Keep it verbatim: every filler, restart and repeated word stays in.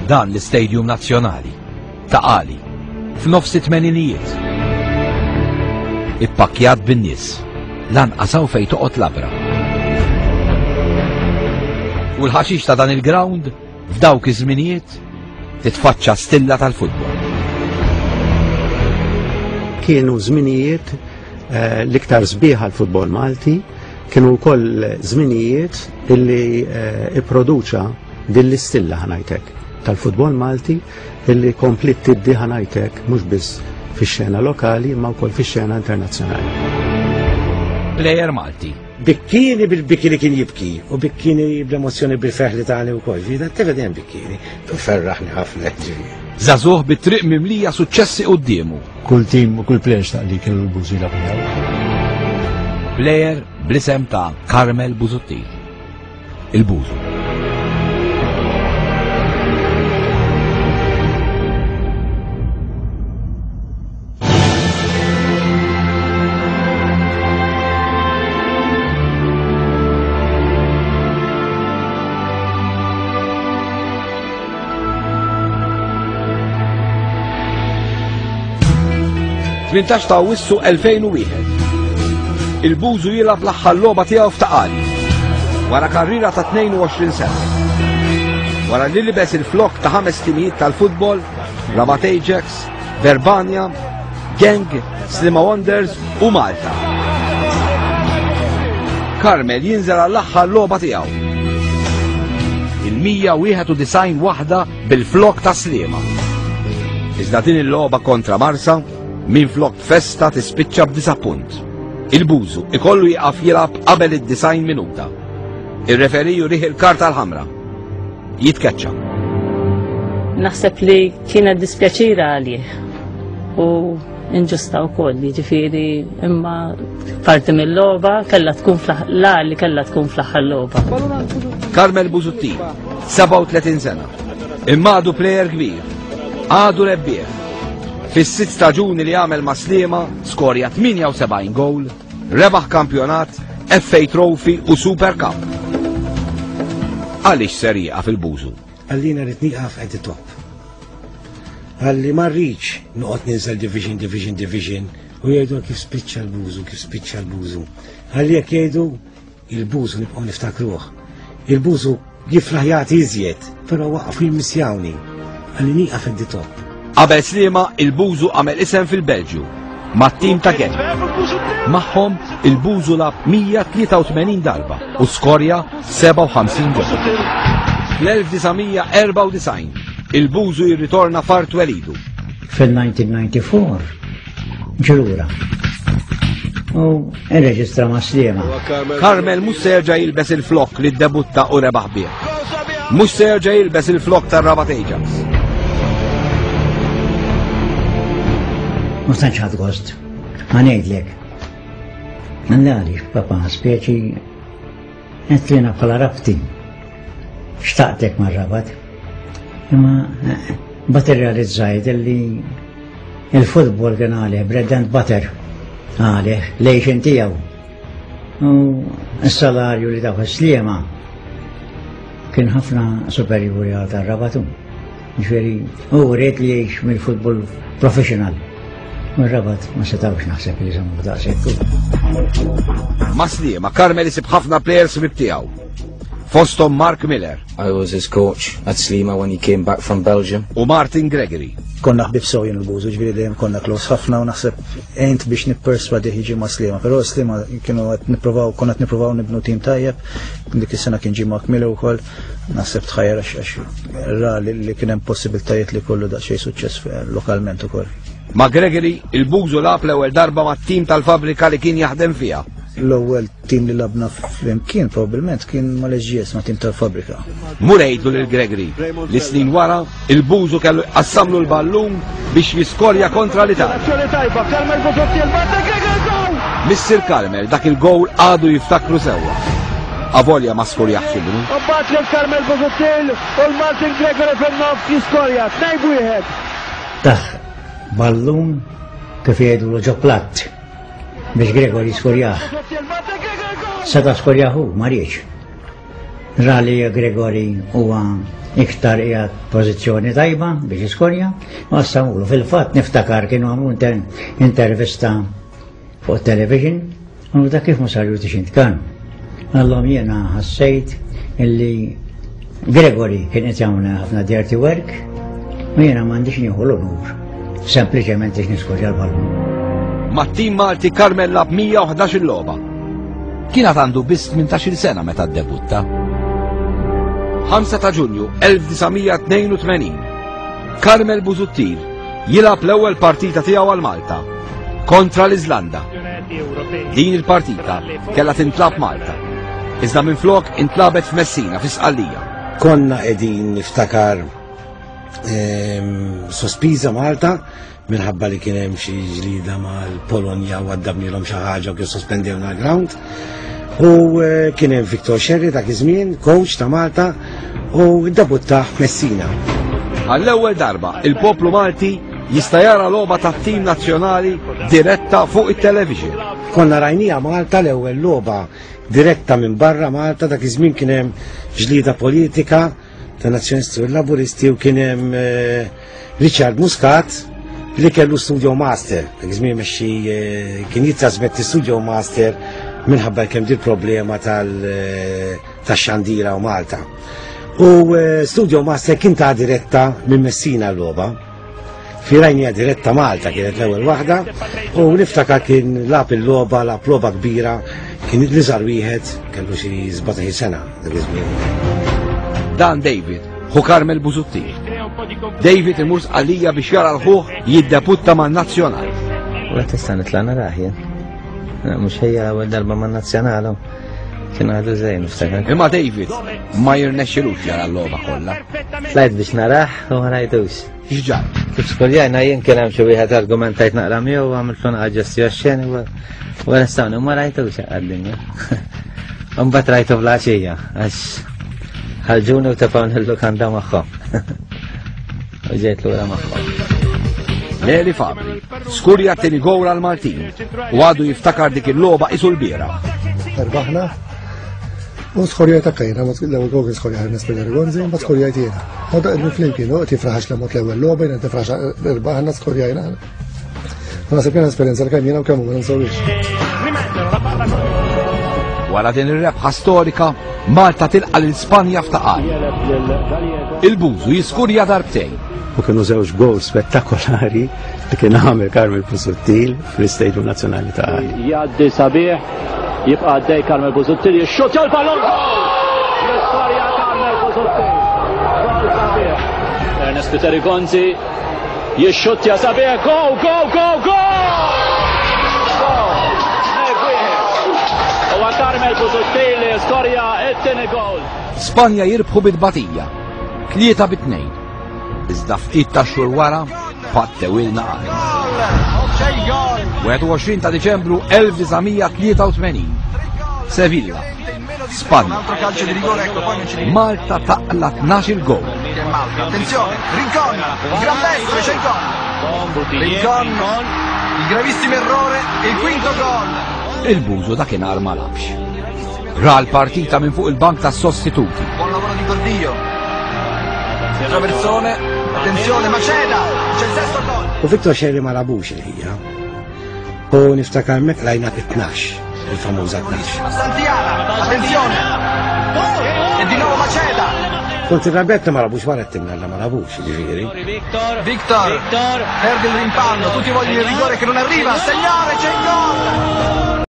Dan l-Istadium Nazzjonali Ta' Qali f'nofs it-tmeninijiet. Ippakkjat bin-nies, lanqas hawn fejn toqgħod labra. U l-ħaxix ta' dan il-ground f'dawk iż-żminijiet titfaċċa stilla tal-futbol. Kienu żminijiet eh, l-iktar sbieħ għal-futbol Malti, kienu wkoll żminijiet illi eh, ipproduċa din l-istilla, ħa ngħidlek, tal-futbol Malti illi komplit tiddi, ħa ngħidlek, mhux biss fix-xena lokali imma wkoll fix-xena internazzjonali. Plejer Malti. Bikkini bil-biki li kien jibki u bikkini bl-emozjoni, bil-ferħ li tani u kol. Ġifieri, t-tifel dejjem bikkini. Ferraħni ħafna, ġifieri. Żagħżugħ bit-triq mimlija suċċessi quddiemu. Kull tim u kull player xtaq li kellu l-Bużu jilgħab miegħu. Plejer bl-isem ta' Carmel Busuttil. Il-Bużu. tmintax ta' Awwissu elfejn u wieħed. Il-Bużu jilgħab l-aħħar logħba tiegħu f'Ta' Qali. Wara karriera ta' tnejn u għoxrin sena. Wara li libes il-flok ta' ħames timijiet tal-futbol, Rabat Ajax, Verbania, Genk, Sliema Wanderers u Malta. Carmel jinżel għall-aħħar logħba tiegħu. Il-mija u wieħed u disgħin waħda bil-flok ta' Sliema. Iżda din il-logħba kontra Marsa minn flok festa tispiċċa b'disappunt. Il-Bużu ikollu jieqaf jilgħab qabel id-disgħin minuta. Ir-referee jurih il-karta l-ħamra. Jitkeċċa. Naħseb li kienet dispjaċira għalih u inġusta wkoll, jiġifieri, imma parti mill-logħba kellha tkun fl la li kellha tkun fl-aħħar logħba. Carmel Busuttil, sebgħa u tletin sena. Imma għadu plejer kbir. Għadu rebbieħ. Fis-sitt staġuni li għamel ma' Sliema skorja tmienja u sebgħin gowl, rebaħ kampjonat, F A Trophy u Super Cup. Għaliex ser jieqaf il-Bużu? Qalli jiena rrid nieqaf at the top. Qalli ma rridx noqgħod ninżel division, division, division u jgħidu kif spiċċa l-Bużu, kif spiċċa l-Bużu. Qalli jekk jgħidu il-Bużu nibqgħu niftakruh. Il-Bużu jiflaħ jagħti iżjed, però waqfu jimmissjawni. Qalli nieqaf at the top. Qabel Sliema, il-Bużu għamel isem fil-Belġju mat-tim ta' Genk. Magħhom il-Bużu lagħab mija u tlieta u tmenin darba u skorja sebgħa u ħamsin gol. Fl-elf disa' mija erbgħa u disgħin il-Bużu jirritorna f'art twelidu. Fil-elf disa' mija disgħa u disgħin ġie lura u irreġistra ma' Sliema. Carmel mhux se jerġa' jilbes il-flok li ddebutta u rebaħ bih. Mhux se jerġa' jilbes il-flok tar-Rabat Ajax. Ma tantx ħadt gost. Ħa ngħidlek. Għalli, papa, speċi għetlina bħala Rabti. Xtaqtek mar-Rabat. Imma eh, but irrealizzajt li il-futbol kien għalih bread and butter, għalih l-għixien tiegħu. U s-salarju li tawh Sliema kien ħafna superjuri għal tar-Rabat. Ġifieri, u ried li jgħix mill-futbol professional. U r-Rabat ma setawx naħseb li jżommu daqshekk. Ma' Sliema, Carmel isib ħafna players ħbieb tiegħu. Fostom Mark Miller I was his coach at Sliema when he came back from Belgium. U Martin Gregory. Konna ħbib sew jien il-Bużu, ġifieri dejjem konna close ħafna u naħseb għent biex nipperswadi jiġi ma' Sliema, però Sliema kienu qed nippruvaw, konna qed nippruvaw nibnu tim tajjeb, dik is-sena kien ġie Mark Miller ukoll, naħseb tħajjar għax għax ra li li kien hemm possibiltajiet li kollu daqsxejn suċċess lokalment ukoll. Ma' Gregory, il-Bużu lagħab l-ewwel darba mat-tim tal-fabrika li kien jaħdem fiha. L-ewwel tim li lgħabna flimkien probabbilment kien mal-S G S, ma' tim tal-fabrika. Mur għidlu lil Gregory li snin wara il-Bużu kellu jqassamlu l-ballun biex jiskorja kontra l-Italja. Missir Carmel dak il-gowl għadu jiftakru sewwa. Avolja ma skorjax ibnu. Mbagħad lil Carmel Busuttil u l-Martin Gregory fin-nofs jiskorja tnejn wieħed. Tah ballun, kif jgħidu, ġo platt biex Gregory skorjah. Seta skorjah hu, ma riedx. Ra li Gregory huwa Iktar qiegħed pożizzjoni tajba biex jiskorja, u qassamulu. Fil-fatt niftakar kienu għamlu inter intervista fuq television, u da kif ma sarjutix int kan. Għallhom jiena ħassejt illi Gregory kien qed jagħmel ħafna dirty work u jiena m'għandix nieħu l-onur. Sempliċement biex niskorja l-ballun. Mat-tim Malti Carmel lagħab mija u ħdax-il logħba. Kien għad għandu biss tmintax-il sena meta ddebutta. ħamsa ta' Ġunju elf disa' mija tnejn u tmenin. Carmel Busuttil jilgħab l-ewwel partita tiegħu għal Malta kontra l-Iżlanda. Din il-partita kellha tintlagħab Malta. Iżda minflok intlagħbet f'Messina fi Sqallija. Konna qegħdin niftakar ehm, sospiża Malta minħabba li kien hemm xi ġlida mal-Polonja u għaddabnilhom xi ħaġa u kien sospendewna l-ground. U eh, kien hemm Victor Scerri dak iż-żmien, coach ta' Malta, u ddebutta Messina. Għall-ewwel darba il-poplu Malti jista' jara logħba tat-tim nazzjonali diretta fuq it-television. Konna rajnija Malta l-ewwel logħba diretta minn barra Malta. Dak iż-żmien kien hemm ġlida politika ta' nazzjonisti u laburisti u kien hemm eh, Richard Muscat li kellu Studio Master. Dak iż-żmien mexxi eh, kien jittrasmetti Studio Master minħabba kemm dil problema tal eh, tax-xandira u Malta. U Studio Master kien ta' diretta minn Messina l-logħba. Firajnija diretta Malta kienet l-ewwel waħda u niftakar kien lagħab il-logħba, lagħab logħba kbira, kien l-iżgħar wieħed, kellu xi sbatax sena dak iż-żmien. Dan David, ħu Carmel Busuttil. David imur Sqallija biex jara 'l ħuh jiddebutta man-nazzjonal. U tista' nitla' narah jien. Mhux ħejja l-ewwel darba man-nazzjonal. Kien għadu żejn niftakar. Imma David ma jirnexxilux jara l-logħba kollha. Tlajt biex narah u ma rajtux. X'ġara? Kif skorjajna jien kien hemm xi wieħed argumentajt naqra miegħu u għamiltu naqra ġesti oxxeni u arrestawni u ma rajtux għad-dinja. Mbagħad rajtu fl-għaxija għax ħarġuni u tefgħuni l-lukanda magħhom. U ġejt lura magħhom. Leli Fabri, skurja t-tieni gowl għal Maltin u għadu jiftakar dik il-logħba qisu l-bieraħ. Rbaħna. U skorjajt akka jiena, l-ewwel gol kien skorja Ernest Gonzi, mbagħad skorjajt jiena. U da qegħdin flimkien, u qed jifraħax l l-ewwel logħba, jiena tifraħ rbaħna skorjajna. U naħseb kien esperjenza li kemm jiena u kemm hu ma ninsewhiex. Wara din ir-rebħa storika, Malta tilqa' lil Spanja f'Ta' Qali. Il-Bużu jiskurja darbtejn. U kienu żewġ gowl spettakolari li kien għamel Carmel Busuttil fl-Istadium Nazzjonali ta' Qali. Jgħaddi sabiħ, jibqa' għaddej Carmel Busuttil, jixxutja l-ballon, gol! L-istorja Carmel Busuttil. Gol sabiħ. Ernest Peter Gonzi jixxutja sabiħ, go, go, go, go! Huwa Carmel Busuttil li skorja it-tieni gol. Spanja jirbħu bit-tbatija, tlieta bit-tnejn. Iżda ftit ta' xhur wara, pattewilna għal. wieħed u għoxrin ta' Diċembru elf disa' mija tlieta u tmenin. Sevilla, Spanja. Malta taqla tnax-il gol. Attenzione, Rincon, il gran destro, c'è il gol. Rincon, il gravissimo errore e il quinto gol. Il-Bużu dakinhar ma lagħabx. Ra l-partita minn fuq il-bank tas sostituti. Buon lavoro di Gordillo. Traversone, attenzione, Maceda, c'è il sesto gol. U Victor Scerri ma lagħbux il-ħija. U niftakar mek lajna tnax, il-famuża tnax. Santiana, attenzione. E di nuovo Maceda. Kont irrabjat ma lagħbux wara t-timna la ma lagħbux, ġifieri. Victor, Victor, perde il rimpallo, tutti vogliono il rigore che non arriva, segnare, c'è il gol.